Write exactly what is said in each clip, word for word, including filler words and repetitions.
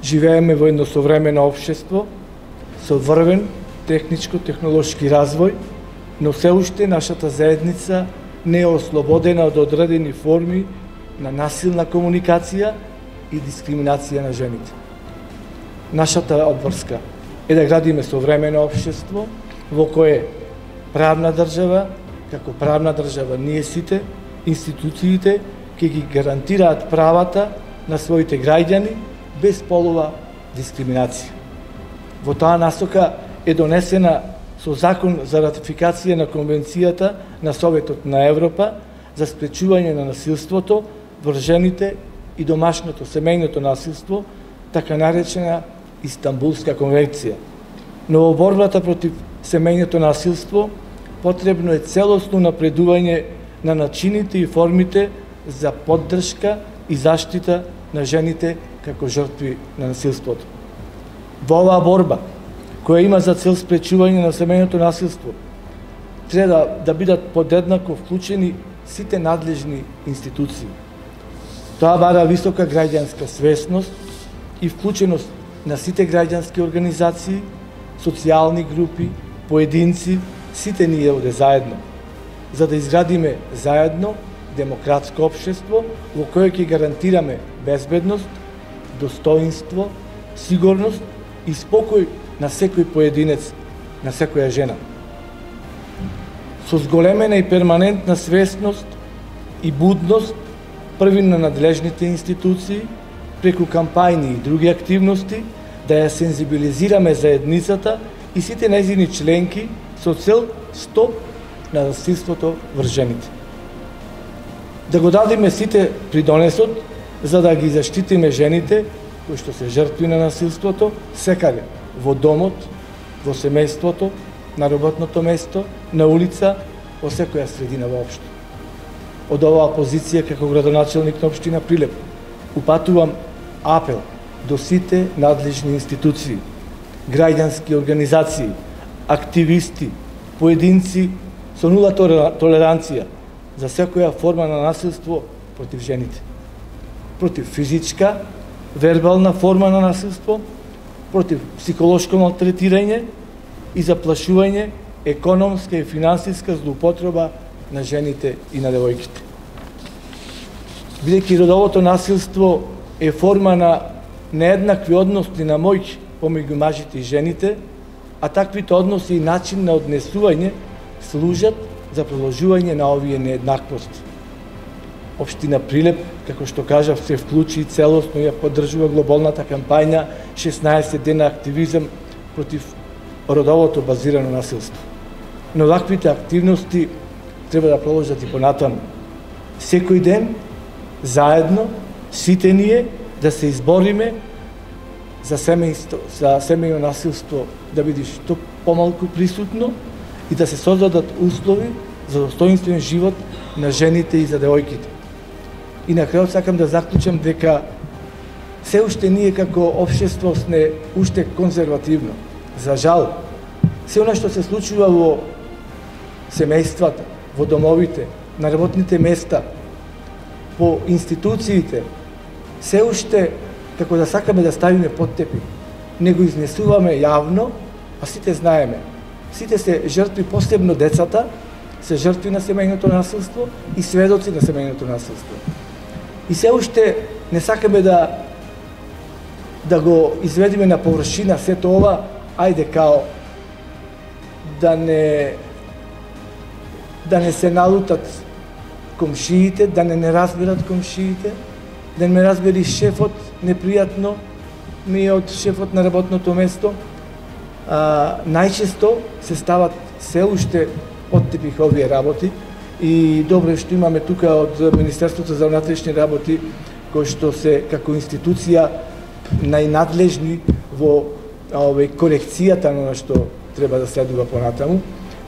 Живееме во едно современо општество со врвен техничко-технолошки развој, но се уште нашата заедница не е ослободена од одредени форми на насилна комуникација и дискриминација на жените. Нашата обврска е да градиме современо општество во кое правна држава, како правна држава ние сите, институциите ќе ги гарантираат правата на своите граѓани без полова дискриминација. Во таа насока е донесена со закон за ратификација на Конвенцијата на Советот на Европа за спречување на насилството врз жените и домашното семејното насилство, така наречена Истанбулска конвенција. Но во борбата против семејното насилство потребно е целосно напредување на начините и формите за поддршка и заштита на жените како жртви на насилството. Во оваа борба, која има за цел спречување на семејното насилство, треба да, да бидат подеднако вклучени сите надлежни институции. Тоа бара висока граѓанска свесност и вклученост на сите граѓански организации, социјални групи, поединци, сите ние овде заедно, за да изградиме заедно демократско општество во кое ќе гарантираме безбедност, достоинство, сигурност и спокој на секој поединец, на секоја жена. Со зголемена и перманентна свесност и будност први на надлежните институции, преку кампајни и други активности, да ја сензибилизираме заедницата и сите нејзини членки со цел стоп на насилството врз жените. Да го дадеме сите придонесот за да ги заштитиме жените кои што се жртви на насилството секаде, во домот, во семејството, на работното место, на улица, во секоја средина воопшто. Од оваа позиција како градоначелник на општина Прилеп упатувам апел до сите надлежни институции, граѓански организации, активисти, поединци со нула толеранција за секоја форма на насилство против жените. Против физичка, вербална форма на насилство, против психолошко малтретирање и заплашување, економска и финансиска злоупотреба на жените и на девојките. Бидејќи родовото насилство е форма на нееднакви односи на моќ помеѓу мажите и жените, а таквите односи и начин на однесување служат за продолжување на овие нееднаквости. Општина Прилеп, како што кажав, се вклучи и целосно ја поддржува глобалната кампања шеснаесет дена активизам против родовото базирано насилство. Но ваквите активности треба да продолжат и понатаму. Секој ден, заедно, сите ние да се избориме за семејство, за семејно насилство да биде што помалку присутно и да се создадат услови за достоинствен живот на жените и за девојките. И на крајот сакам да заклучам дека се уште ние како општество сме уште конзервативно. За жал, се она што се случува во семејствата, во домовите, на работните места, по институциите, се уште како да сакаме да ставиме под тепих. Не го изнесуваме јавно, а сите знаеме. Сите се жртви, посебно децата, се жртви на семејното насилство и сведоци на семејното насилство. И се уште не сакаме да да го изведиме на површина сето ова, ајде као да не да не се налутат комшиите, да не не разберат комшиите, да не ме разбери шефот непријатно ми е од шефот на работното место. А, најчесто се стават се уште од тепих овие работи и добро е што имаме тука од Министерството за внатрешни работи кои што се како институција најнадлежни во овој корекцијата на што треба да следува понатаму.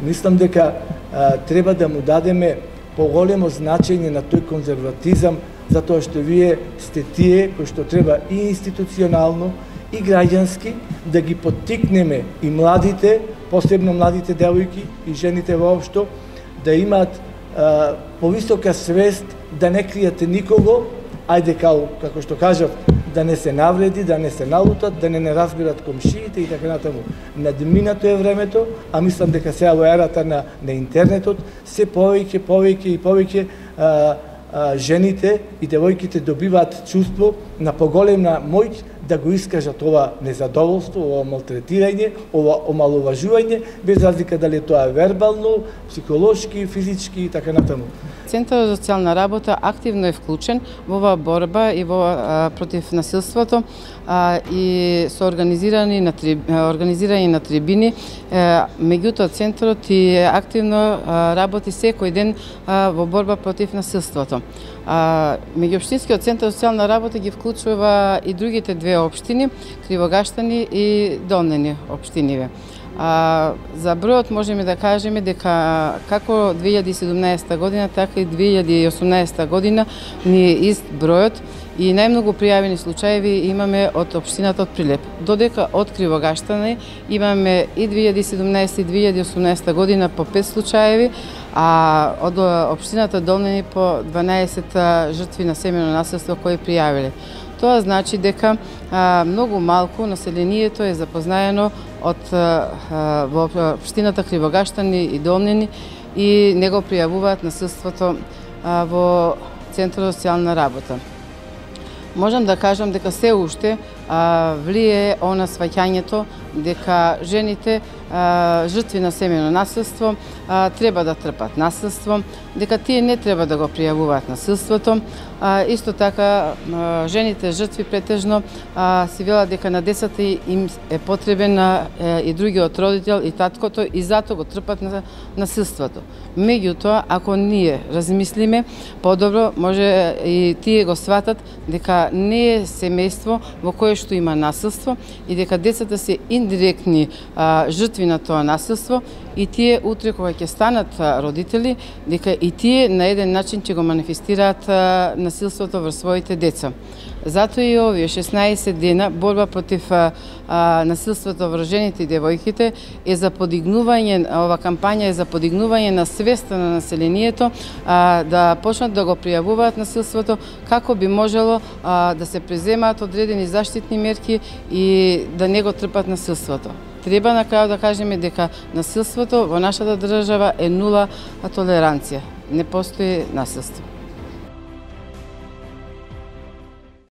Мислам дека а, треба да му дадеме поголемо значење на тој конзерватизам, затоа што вие сте тие кои што треба и институционално и граѓански да ги поттикнеме и младите, посебно младите девојки и жените воопшто, да имаат повисока свест да не кријате никого, ајде као, како што кажав, да не се навреди, да не се налутат, да не не разбират комшиите и така натаму. Надминато е времето, а мислам дека сега во ерата на, на интернетот се повеќе, повеќе и повеќе а, а, жените и девојките добиваат чувство на поголемна моќ да го искажат ова незадоволство, ова малтретирање, ова омаловажување, без разлика дали тоа е вербално, психолошки, физички и така натаму. Центарот за социјална работа активно е вклучен во оваа борба и во а, против насилството а, и со организирани на триб, организирани на трибини. А, меѓутоа центарот и активно а, работи секој ден а, во борба против насилството. А, меѓуопштинскиот центар за социјална работа ги вклучува и другите две општини, Кривогаштани и Долнени општиниве. А, за бројот можеме да кажеме дека како две илјади и седумнаесета година, така и две илјади и осумнаесета година ни е ист бројот и најмногу пријавени случаеви имаме од општината од Прилеп. Додека од Кривогаштани имаме и две илјади и седумнаесета и две илјади и осумнаесета година по пет случаеви, а од општината Долнени по дванаесет жртви на семејно насилство кои пријавиле. Тоа значи дека а, многу малку населението е запознаено од а, во општината Кривогаштани и Долнени и не го пријавуваат насилството а, во Центарот за социјална работа. Можам да кажам дека се уште а, влие она сваќањето дека жените а, жртви на семејно насилство а, треба да трпат насилство, дека тие не треба да го пријавуваат насилството. А, исто така а, жените жртви претежно а, си велат дека на децата им е потребен а, и другиот родител и таткото и затоа го трпат на насилството. Меѓутоа, ако ние размислиме подобро, може и тие го сватат дека не е семејство во кое што има насилство и дека децата се индиректни а, жртви на тоа насилство и тие утре кога ќе станат а, родители, дека и тие на еден начин ќе го манифестираат а, насилството врз своите деца. Затоа и овие шеснаесет дена борба против а, а, насилството врз жените и девојките е за подигнување, ова кампања е за подигнување на свеста на населението а, да почнат да го пријавуваат насилството, како би можело а, да се преземаат одредени заштитни мерки и да не го трпат насилството. Треба на крај да кажеме дека насилството во нашата држава е нула толеранција. Не постои насилство.